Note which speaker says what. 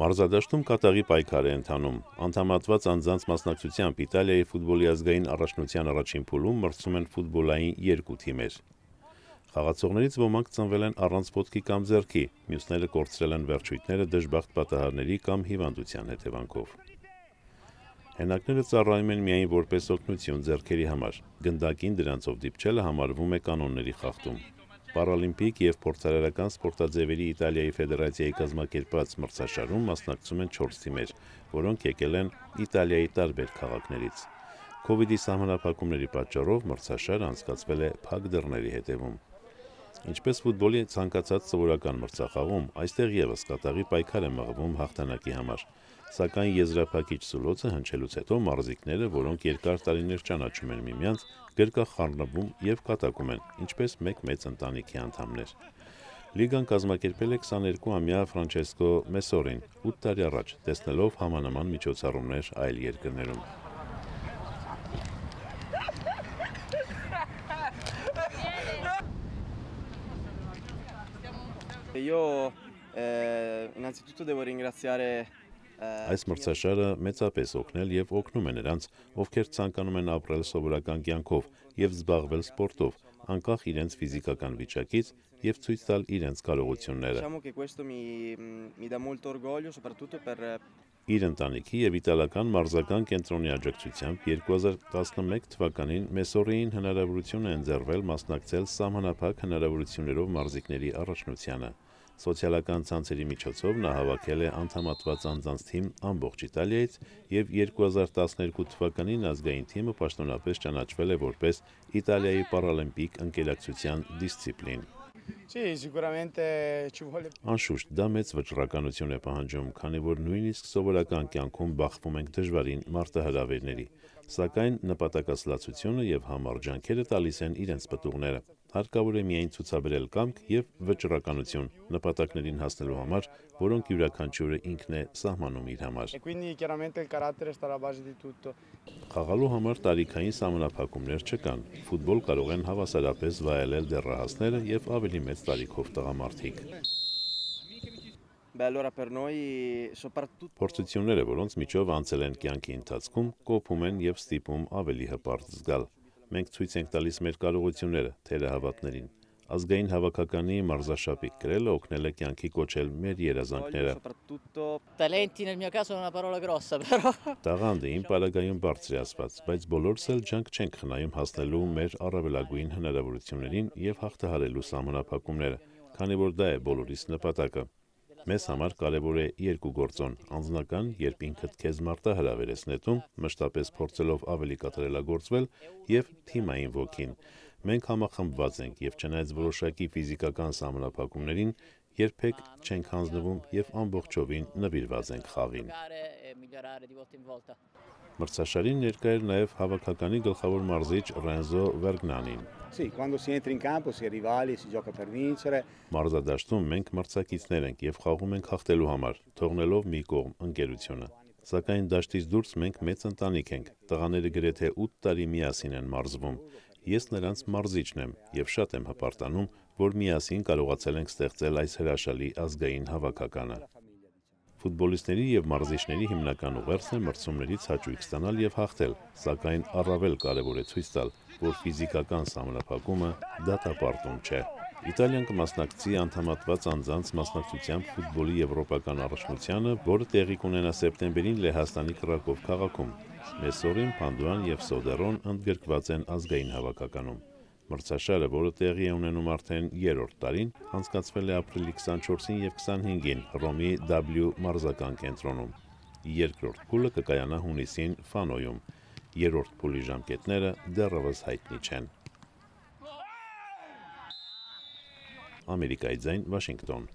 Speaker 1: Մարզադաշտում կատաղի պայքար է ընթանում։ Անդամատված անձանց մասնակցությամբ Իտալիայի ֆուտբոլի ազգային առաջնության առաջին փուլում մրցում են ֆուտբոլային երկու թիմեր։ Խաղացողներից ոմանք ծնվել են առանց ոտքի կամ ձեռքի, մյուսները կորցրել են վերջույթները դժբախտ պատահարների կամ հիվանդության հետևանքով։ Հենակները ծառայում են միայն որպես օգնություն ձեռքերի համար։ Գնդակին դրանցով դիպչելը համարվում է կանոնների խախտում։ Պարալիմպիկ և փորձարարական սպորտաձևերի Իտալիայի ֆեդերացիայի կազմակերպած մրցաշարում մասնակցում են 4 թիմեր, որոնք եկել են Իտալիայի տարբեր քաղաքներից։ Քովիդի սահմանափակումների պատճառով մրցաշարը անցկացվել է փակ դռների հետևում։ Ինչպես ֆուտբոլի ցանկացած սովորական մրցախաղում, այստեղ ևս կատաղի պայքար է մղվում հաղթանակի համար։ Սակայն եզրափակիչ սուլոցը հնչելուց հետո մարզիկները, որոնք երկար տարիներ ճանաչում են միմյանց, գրկախառնվում և կատակում են, ինչպես մեկ մեծ ընտանիքի անդամներ։ Լիգան կազմակերպել է 22-ամյա Ֆրանչեսկո Մեսորին 8 տարի առաջ, տեսնելով համանման միջոցառումներ այլ երկրներում։ Այս մրցաշարը մեծապես օգնել և օգնում է նրանց, ովքեր ցանկանում են ապրել սովորական կյանքով և զբաղվել սպորտով, անկախ իրենց ֆիզիկական վիճակից և ցույց տալ իրենց կարողությունները։ Իր ընտանիքի և իտալական մարզական կենտրոնի աջակցությամբ 2011 թվականին Մեսորիին հնարավորություն է ընձեռվել մասնակցել սահմանափակ հնարավորություններով մարզիկների առաջնությանը։ Սոցիալական ցանցերի միջոցով նա հավաքել է անդամատված անձանց թիմ ամբողջ Իտալիայից և 2012 թվականին ազգային թիմը պաշտոնապես ճանաչվել է որպես Իտալիայի պարալիմպիկ ընկերակցության դիսցիպլին։ Անշուշտ, դա մեծ վճռականություն է պահանջում, քանի որ նույնիսկ սովորական կյանքում բախվում ենք դժվարին մարտահրավերների, սակայն նպատակասլացությունը և համառ ջանքերը տալիս են իրենց պտուղները։ Հարկավոր է միայն ցուցաբերել կամք և վճռականություն նպատակներին հասնելու համար, որոնք յուրաքանչյուրը ինքն է սահմանում իր համար։ Խաղալու համար տարիքային սահմանափակումներ չկան։ Ֆուտբոլ կարող են հավասարապես վայելել դեռահասները և ավելի մեծ տարիքով տղամարդիկ։ Փորձությունները, որոնց միջով անցել են կյանքի ընթացքում, կոփում են և ստիպում ավելի հպարտ զգալ։ Մենք ցույց ենք տալիս մեր կարողությունները թերահավատներին։ Ազգային հավաքականի մարզաշապիկ կրելը օգնել է կյանքի կոչել մեր երազանքները։ Տաղանդը իմ պարագայում բարձր է ասված, բայց բոլորս էլ ջանք չենք խնայում հասնելու մեր առավելագույն հնարավորություններին և հաղթահարելու սահմանափակումները, քանի որ դա է բոլորիս նպատակը։ Մեզ համար կարևոր է երկու գործոն՝ անձնական, երբ ինքդ քեզ մարտահրավեր ես նետում, մշտապես փորձելով ավելի կատարելագործվել, և թիմային ոգին։ Մենք համախմբված ենք և չնայած որոշակի ֆիզիկական սահմանափակումներին, երբեք չենք հանձնվում և ամբողջովին նվիրված ենք խաղին։ Մրցաշարին ներկա էր նաև հավաքականի գլխավոր մարզիչ Ռենզո Վերգնանին։ Մարզադաշտում մենք մրցակիցներ ենք և խաղում ենք հաղթելու համար, թողնելով մի կողմ ընկերությունը։ Սակայն դաշտից դուրս մենք մեծ ընտանիք ենք։ Տղաները գրեթե 8 տարի միասին են մարզվում։ Ես նրանց մարզիչն եմ և շատ եմ հպարտանում, որ միասին կարողացել ենք ստեղծել այս հրաշալի ազգային հավաքականը։ Ֆուտբոլիստների և մարզիչների հիմնական ուղերձն է մրցումներից հաճույք ստանալ և հաղթել, սակայն առավել կարևոր է ցույց տալ, որ ֆիզիկական սահմանափակումը դատապարտում չէ։ Իտալիան կմասնակցի անդամատված անձանց մասնակցությամբ ֆուտբոլի եվրոպական առաջնությանը, որը տեղի կունենա սեպտեմբերին Լեհաստանի Կրակով քաղաքում։ Մեսորին, Փանդուան և Սոդերոն ընդգրկված են ազգային հավաքականում։ Մրցաշարը, որը տեղի է ունենում արդեն 3-րդ տարին, անցկացվել է ապրիլի 24-ին և 25-ին Հռոմի W մարզական կենտրոնում։ Երկրորդ փուլը կկայանա հունիսին Ֆանոյում։ Երրորդ փուլի ժամկետները դեռևս հայտնի չեն։ Ամերիկայի ձայն, Վաշինգտոն։